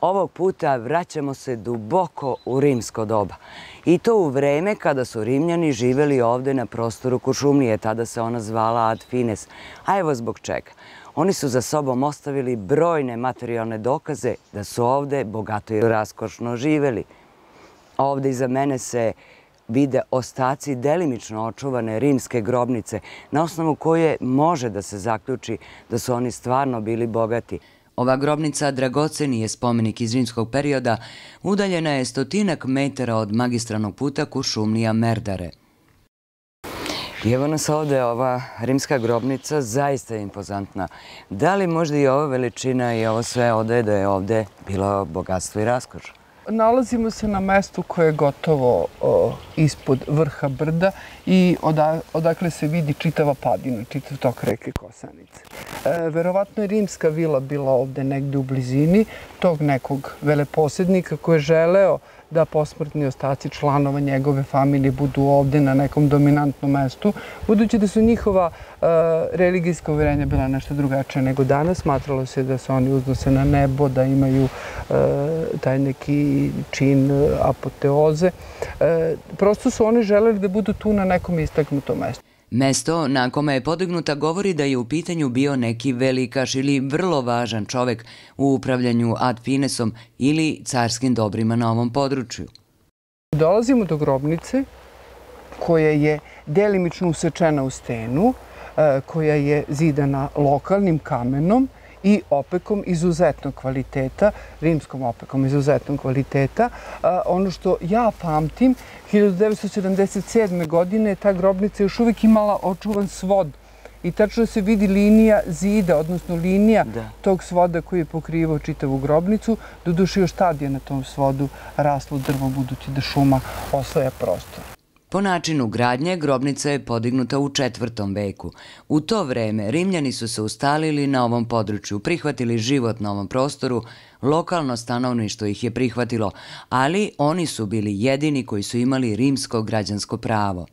Ovog puta vraćamo se duboko u rimsko doba. I to u vreme kada su Rimljani živjeli ovde na prostoru Kuršumlije. Tada se ona zvala Ad Fines. A evo zbog čega. Oni su za sobom ostavili brojne materijalne dokaze da su ovde bogato i raskošno živjeli. Ovde iza mene se vide ostaci delimično očuvane rimske grobnice, na osnovu koje može da se zaključi da su oni stvarno bili bogati. Ova grobnica dragoceni je spomenik iz rimskog perioda, udaljena je 100 metara od magistralnog puta Kuršumlija-Merdare. I evo nas ovde, ova rimska grobnica zaista je impozantna. Da li možda i ova veličina i ovo sve odaje da je ovde bilo bogatstvo i raskoš? Nalazimo se na mestu koje je gotovo ispod vrha brda i odakle se vidi čitava padina, čitav tok reke Kosanice. Verovatno je rimska vila bila ovde negde u blizini tog nekog veleposednika koji je želeo da posmrtni ostaci članova njegove familije budu ovde na nekom dominantnom mestu, budući da su njihova religijska uverenja bila nešto drugačije nego danas. Smatralo se da se oni uznose na nebo, da imaju taj neki čin apoteoze. Prosto su oni želeli da budu tu na nekom istaknutom mestu. Mesto na kome je podignuta govori da je u pitanju bio neki velikaš ili vrlo važan čovek u upravljanju Ad Finesom ili carskim dobrima na ovom području. Dolazimo do grobnice koja je delimično usečena u stenu, koja je zidana lokalnim kamenom i opekom izuzetnog kvaliteta, rimskom opekom izuzetnog kvaliteta. Ono što ja pamtim, 1977. godine ta grobnica još uvijek imala očuvan svod i tačno se vidi linija zida, odnosno linija tog svoda koji je pokrivao čitavu grobnicu. Doduše još tad je na tom svodu raslo drvo, budući da šuma osvaja prostor. Po načinu gradnje, grobnica je podignuta u 4. veku. U to vreme Rimljani su se ustalili na ovom području, prihvatili život na ovom prostoru, lokalno stanovništvo ih je prihvatilo, ali oni su bili jedini koji su imali rimsko građansko pravo.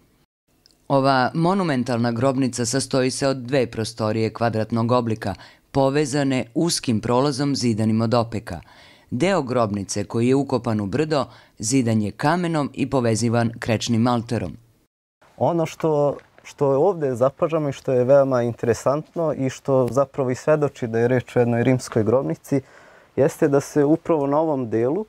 Ova monumentalna grobnica sastoji se od 2 prostorije kvadratnog oblika, povezane uskim prolazom zidanim od opeka. Deo grobnice koji je ukopan u brdo zidan je kamenom i povezivan krečnim malterom. Ono što je ovde zapažamo i što je veoma interesantno i što zapravo i svedoči da je reč o jednoj rimskoj grobnici, jeste da se upravo na ovom delu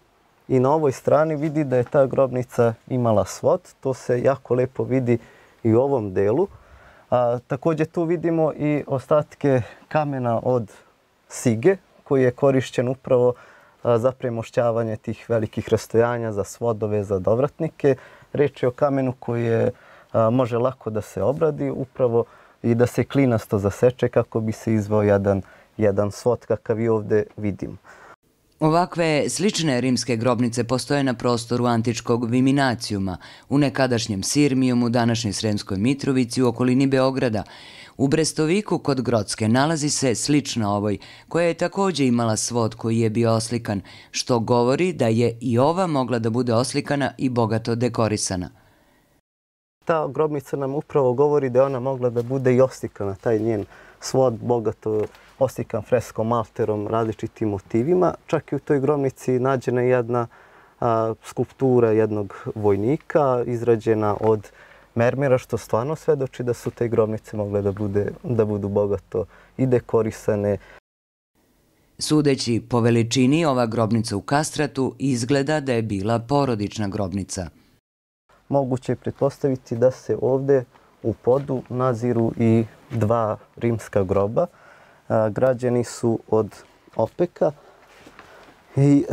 i na ovoj strani vidi da je ta grobnica imala svod. To se jako lepo vidi i u ovom delu. Također tu vidimo i ostatke kamena od sige koji je korišćen upravo za premošćavanje tih velikih rastojanja, za svodove, za dovratnike. Reč je o kamenu koji može lako da se obradi upravo i da se klinasto zaseče kako bi se izveo jedan svod kakav i ovde vidimo. Ovakve slične rimske grobnice postoje na prostoru antičkog Viminacijuma, u nekadašnjem Sirmijumu, današnjoj Sremskoj Mitrovici, u okolini Beograda. U Brestoviku kod Grocke nalazi se slična ovoj, koja je također imala svod koji je bio oslikan, što govori da je i ova mogla da bude oslikana i bogato dekorisana. Ta grobnica nam upravo govori da je ona mogla da bude i oslikana, taj njen svod bogato oslikan freskom, malterom, različitim motivima. Čak i u toj grobnici nađena je jedna skulptura jednog vojnika izrađena od mermera, što stvarno svedoči da su te grobnice mogle da budu bogato i dekorisane. Sudeći po veličini, ova grobnica u Kastratu izgleda da je bila porodična grobnica. Moguće je pretpostaviti da se ovde u podu naziru i 2 rimska groba. Građeni su od opeka i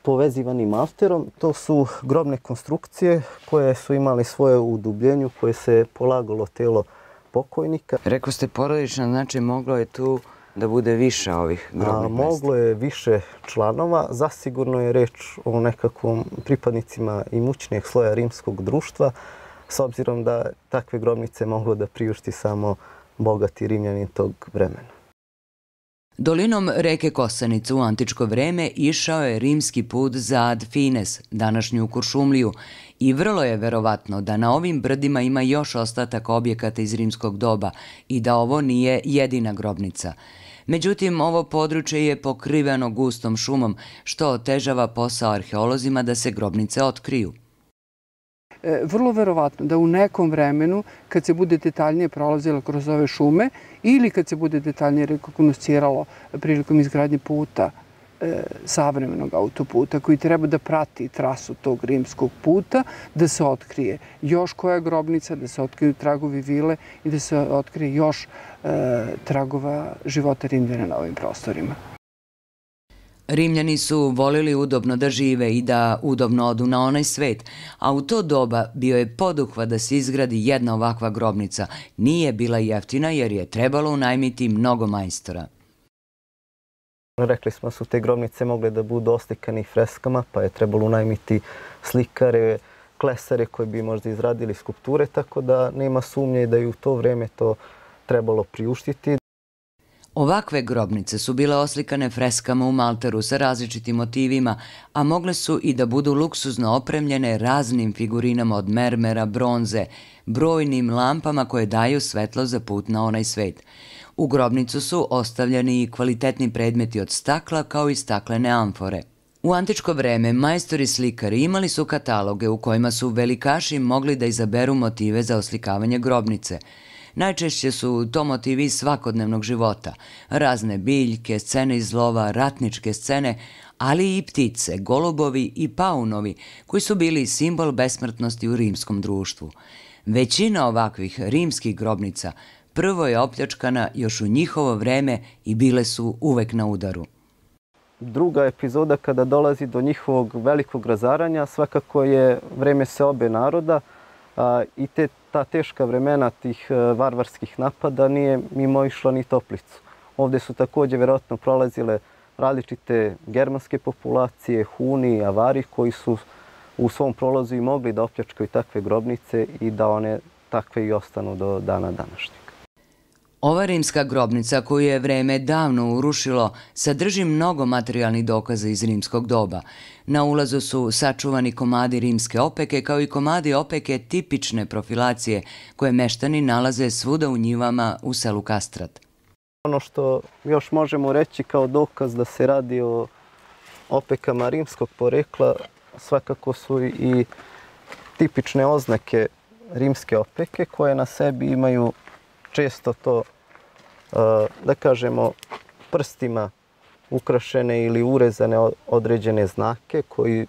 povezivani malterom. To su grobne konstrukcije koje su imali svoje udubljenju, koje se polagalo telo pokojnika. Rekao ste porodična, znači moglo je tu da bude više ovih grobnih mesta? Moglo je više članova. Zasigurno je reč o nekakvom pripadnicima imućnijeg sloja rimskog društva, s obzirom da takve grobnice moglo da priušti samo bogati Rimljani tog vremena. Dolinom reke Kosanice u antičko vreme išao je rimski put za Ad Fines, današnju Kuršumliju, i vrlo je verovatno da na ovim brdima ima još ostataka objekata iz rimskog doba i da ovo nije jedina grobnica. Međutim, ovo područje je pokriveno gustom šumom, što otežava posao arheolozima da se grobnice otkriju. Vrlo verovatno da u nekom vremenu, kad se bude detaljnije prolazilo kroz ove šume ili kad se bude detaljnije rekognosciralo prilikom izgradnje puta, savremenog autoputa koji treba da prati trasu tog rimskog puta, da se otkrije još koja grobnica, da se otkriju tragovi vile i da se otkrije još tragova života Rimljana na ovim prostorima. Rimljani su volili udobno da žive i da udobno odu na onaj svet, a u to doba bio je poduhvat da se izgradi jedna ovakva grobnica. Nije bila jeftina jer je trebalo unajmiti mnogo majstora. Rekli smo da su te grobnice mogle da budu oslikane freskama, pa je trebalo unajmiti slikare, klesare koji bi možda izradili skulpture, tako da nema sumnje da je u to vreme to trebalo priuštiti. Ovakve grobnice su bile oslikane freskama u malteru sa različitim motivima, a mogle su i da budu luksuzno opremljene raznim figurinama od mermera, bronze, brojnim lampama koje daju svetlo za put na onaj svet. U grobnicu su ostavljeni i kvalitetni predmeti od stakla kao i staklene amfore. U antičko vreme majstori slikari imali su kataloge u kojima su velikaši mogli da izaberu motive za oslikavanje grobnice. Najčešće su to motivi iz svakodnevnog života, razne biljke, scene iz lova, ratničke scene, ali i ptice, golubovi i paunovi, koji su bili simbol besmrtnosti u rimskom društvu. Većina ovakvih rimskih grobnica prvo je opljačkana još u njihovo vreme i bile su uvek na udaru. Druga epizoda kada dolazi do njihovog velikog razaranja svakako je vreme seobe naroda i ta teška vremena tih varvarskih napada nije mimoišla ni Toplicu. Ovdje su također vjerojatno prolazile različite germanske populacije, Huni, Avari koji su u svom prolazu i mogli da opljačkaju takve grobnice i da one takve i ostanu do dana današnjeg. Ova rimska grobnica koju je vreme davno urušilo sadrži mnogo materijalnih dokaza iz rimskog doba. Na ulazu su sačuvani komadi rimske opeke kao i komadi opeke tipične profilacije koje meštani nalaze svuda u njivama u selu Kastrat. Ono što još možemo reći kao dokaz da se radi o opekama rimskog porekla svakako su i tipične oznake rimske opeke koje na sebi imaju često to, da kažemo, prstima ukrašene ili urezane određene znake koji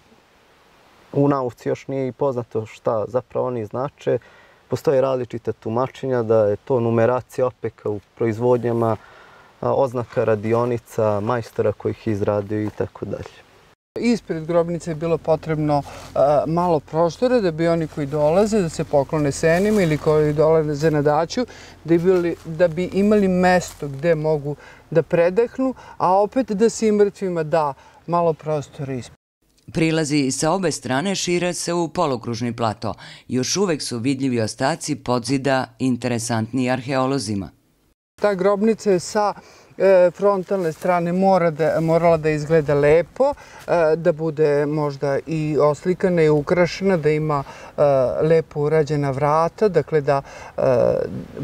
u nauci još nije i poznato šta zapravo oni znače. Postoje različita tumačenja da je to numeracija opeka u proizvodnjama, oznaka radionica, majstora koji ih izradio i tako dalje. Ispred grobnice je bilo potrebno malo prostora da bi oni koji dolaze da se poklone senima ili koji dolaze na daću, da bi imali mesto gde mogu da predahnu, a opet da se i mrtvima da malo prostora ispred. Prilazi sa obe strane šire se u polukružni plato. Još uvek su vidljivi ostaci podzida interesantni arheolozima. Ta grobnica je sa frontalne strane morala da izgleda lepo, da bude možda i oslikana i ukrašena, da ima lepo urađena vrata, dakle da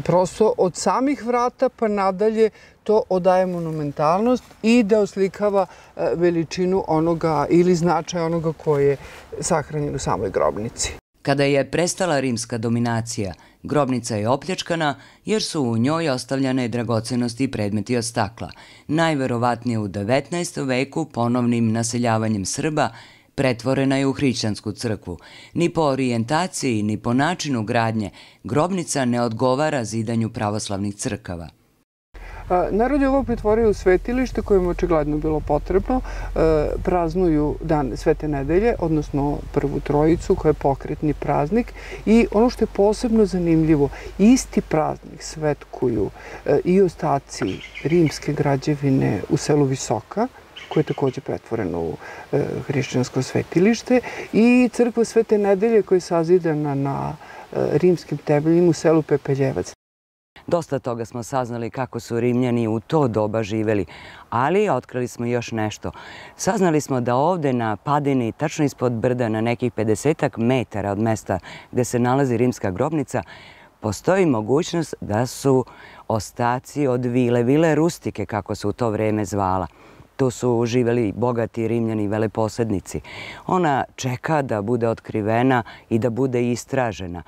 prosto od samih vrata pa nadalje to odaje monumentalnost i da oslikava veličinu onoga ili značaj onoga koji je sahranjen u samoj grobnici. Kada je prestala rimska dominacija, grobnica je opljačkana jer su u njoj ostavljane dragocenosti i predmeti od stakla. Najverovatnije u 19. veku ponovnim naseljavanjem Srba pretvorena je u hrišćansku crkvu. Ni po orijentaciji, ni po načinu gradnje grobnica ne odgovara zidanju pravoslavnih crkava. Narod je ovo pretvorio u svetilište kojem je očigledno bilo potrebno. Praznuju dan Svete nedelje, odnosno Prvu Trojicu, koja je pokretni praznik. I ono što je posebno zanimljivo, isti praznik svetkuju i ostaci rimske građevine u selu Visoka, koje je također pretvoreno u hrišćansko svetilište, i crkva Svete nedelje koja je sazidana na rimskim temeljima u selu Pepeljevac. Dosta toga smo saznali kako su Rimljani u to doba živeli, ali otkrili smo još nešto. Saznali smo da ovde na padini, tačno ispod brda, na nekih 50 metara od mesta gde se nalazi rimska grobnica, postoji mogućnost da su ostaci od vile rustike, kako se u to vreme zvala. Tu su živeli bogati Rimljani veleposednici. Ona čeka da bude otkrivena i da bude istražena.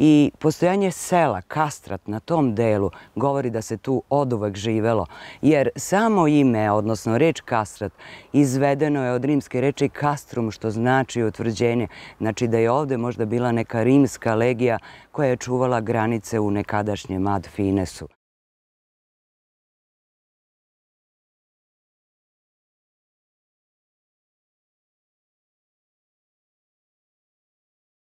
I postojanje sela, Kastrat, na tom delu govori da se tu oduvek živelo, jer samo ime, odnosno reč Kastrat, izvedeno je od rimske reči castrum, što znači utvrđenje. Znači da je ovde možda bila neka rimska legija koja je čuvala granice u nekadašnjem Ad Finesu.